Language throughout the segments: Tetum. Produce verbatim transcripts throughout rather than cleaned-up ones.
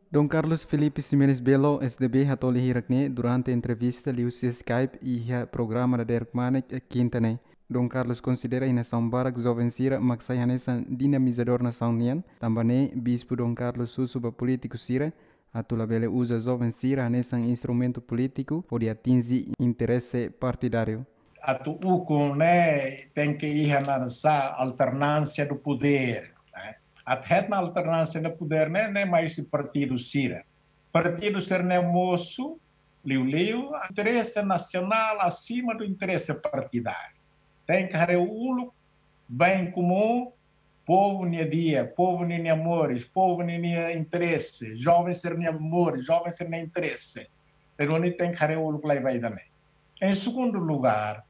Dom Carlos Filipe Ximenes Belo, S D B, hato'o lia hirak ne'e durante entrevista liuhusi Skype iha programa Dadeer Kmanek, kinta ne'e. Dom Carlos konsidera iha nasaun barak joven sira mak sai hanesan dinamizadór nasaun nian, tanba ne'e Bispu Dom Carlos husu ba polítiku sira atu labele uza joven sira hanesan instrumentu polítiku hodi atinje interese partidáriu. Atu ukun ne'e tenke iha naran sá, alternância do poder, ne'e. Atu hetan alternância do poder ne'e, ne'e mai husi partidu sira. Partidu sira-ne'e mosu liuliu interese nasionál asima do interese partidáriu. Tenke haree uluk bem comum, povu nia di'ak, povu ninia moris, povu ninia interese, joven sira-nia moris, joven sira-nia interese. Entaun ita tenke haree uluk lai-ba ida-ne'e. Em segundo lugar,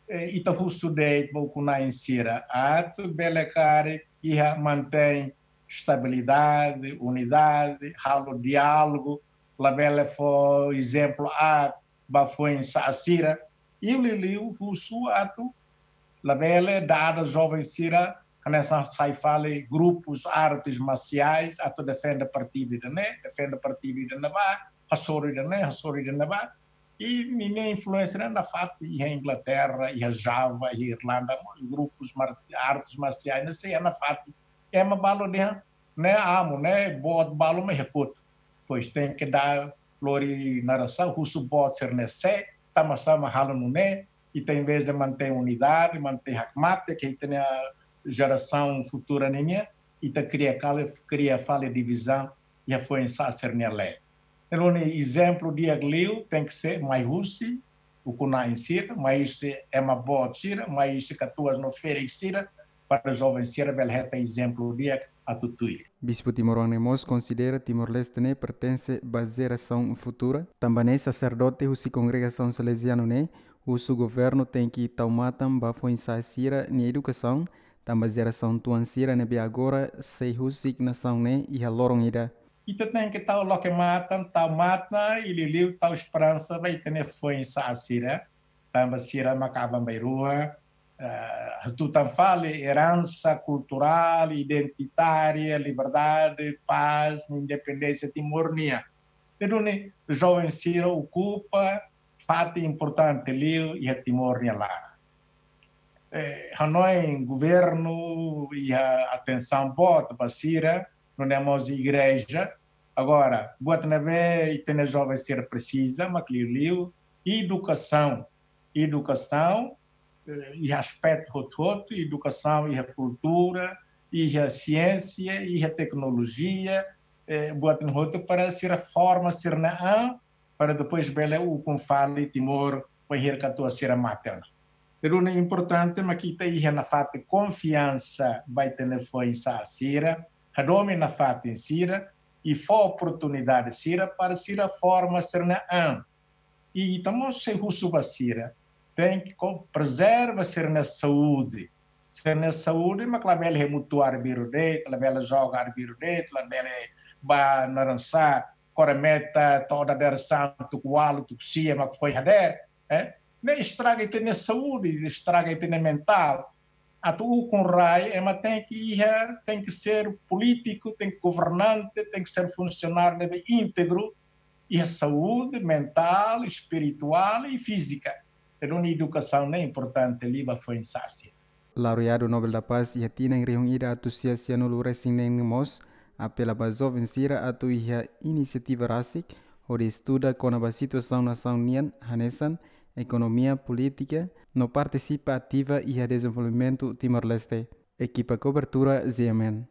eh, ita husu de'it ba ukun-na'in sira atu bele karik iha mantein estabilidade, unidade, halo diálogu, labele fó ezemplu aat ba foin-sa'e sira, i liuliu husu atu labele dada joven sira hanesan sai fali grupus artes marciais atu defende partidu ida-ne'e, defende partidu ida-ne'ebá, hasoru ida-ne'e, hasoru ida-ne'ebá. I ninia influénsia ne'e nafatin iha Inglaterra, iha Java, iha Irlanda, mós grupus mar-, artes marciais ne'e sei nafatin. Ema balu dehan ne'e amu, ne'e boot balu mak iha kotuk. Pois tenke dada lori naran sá, husu boot sira-ne'e sé, tanbasá mak halo nune'e, i ita em vez de mantein unidade, mantein hakmatek, ke ita-nia jerasaun futura ninian, ita kria kali, kria fali divizaun iha foin-sa'e sira-nia leet. Entaun ezemplu di'ak liu tenke ser mai husi ukun-na'in sira, mai husi ema boot sira, mai husi katuas no ferik sira, para joven sira bele hetan ezemplu di'ak atu tuir. Bispu timoroan ne'e mós konsidera Timor-Leste ne'e pertense ba jerasaun futura. Tanba ne'e saserdote husi kongregasaun Salezianu ne'e husu governu tenke tau matan ba foin-sa'e sira-nia edukasaun, tanba jerasaun tuan sira ne'ebé agora sei husik nasaun ne'e iha loron ida. Ita tenke tau loke matan, tau matan, i liuliu tau esperansa ba ita-nia foin-sa'e sira, tanba sira mak aban-bainrua, eh, hatutan fali eransa kulturál, identitária, liberdade, pás, independénsia Timor nian. Entaun joven sira okupa fatin importante liu iha Timor nia laran. Eh, hanoin governu iha atensaun boot ba sira, nune'e mós igreja. Agora, buat ne'ebé ita-nia joven sira presiza, mak liuliu edukasaun. Edukasaun, eh, iha aspetu hotu-hotu, edukasaun iha kultura, iha siénsia, iha teknolojia, eh, buat ne'e hotu para sira forma sira-nia an, para depois bele ukun fali Timor, bainhira katuas sira mate ona. Entaun importante mak ita iha nafatin konfiansa ba ita-nia foin-sa'e sira, hadomi nafatin sira, i fó oportunidade sira para sira forma sira-nia an. I ita mós sei husu ba sira, tenke ko-, prezerva sira-nia saúde. Sira-nia saúde mak labele hemutuk arbiru de'it, labele joga arbiru de'it, labele ba naran sá, kore meta to'o dadeer-saan tuku ualu, tuku sia mak foin hadeer, eh? Ne'e estraga ita-nia saúde, estraga ita-nia mentál. Atu ukun rai, ema tenke iha, tenke ser polítiku, tenke governante, tenke ser funsionáriu ne'ebé íntegru, iha saúde mentál, espirituál i fízika. Entaun edukasaun ne'e importante liu ba foin-sa'e sira. Laureadu Nobel da Paz iha tinan rihun ida atus sia sianulu resin neen ne'e mós apela ba joven sira atu iha inisiativa rasik hodi estuda kona-ba situasaun nasaun nian hanesan ekonomia, polítika, no partisipa ativa iha dezenvolvimentu Timor-Leste. Ekipa kobertura Z M N.